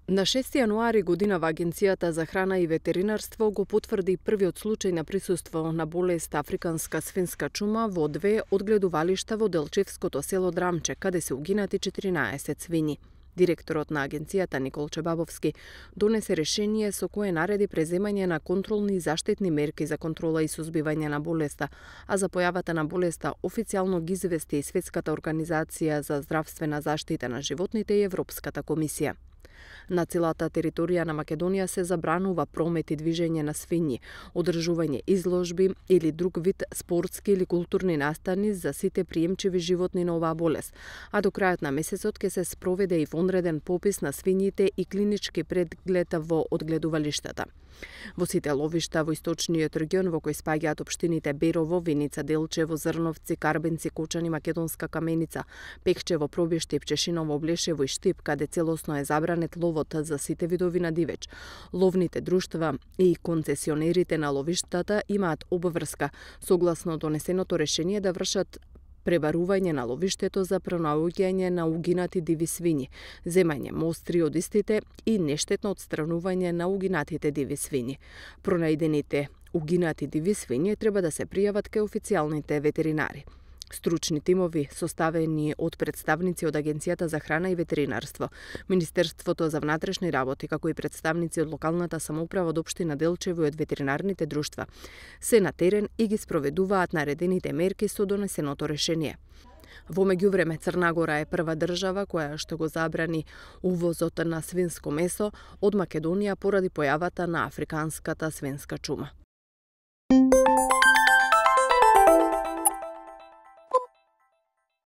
На 6 јануари годинава Агенцијата за храна и ветеринарство го потврди првиот случај на присуство на болест африканска свинска чума во две одгледувалишта во Делчевското село Драмче, каде се угинати 14 свињи. Директорот на агенцијата Никол Чебабовски донесе решение со кое нареди преземање на контролни и заштитни мерки за контрола и сузбивање на болеста, а за појавата на болеста официјално ги извести и Светската организација за здравствена заштита на животните и Европската комисија. На целата територија на Македонија се забранува промет и движење на свињи, одржување изложби или друг вид спортски или културни настани за сите приемчиви животни на оваа болест, а до крајот на месецот ќе се спроведе и вонреден попис на свињите и клинички преглед во одгледувалиштата. Во сите ловишта во источниот регион во кој спаѓаат општините Берово, Виница, Делчево, Зрновци, Карбенци, Кочани, Македонска Каменица, Пекчево, Пробиштип, Чешиново, Блешево и Штип, каде целосно е забранет ловот за сите видови на дивеч. Ловните друштва и концесионерите на ловиштата имаат обврска согласно донесеното решение да вршат пребарување на ловиштето за пронаоѓање на угинати диви свињи, земање мостри од истите и нештетно отстранување на угинатите диви свињи. Пронајдените угинати диви свињи треба да се пријават кај официјалните ветеринари. Стручни тимови, составени од представници од Агенцијата за храна и ветеринарство, Министерството за внатрешни работи, како и представници од локалната самоуправа од општина Делчево и од ветеринарните друштва, се на терен и ги спроведуваат наредените мерки со донесеното решение. Во меѓувреме, Црна Гора е прва држава која што го забрани увозот на свинско месо од Македонија поради појавата на африканската свинска чума.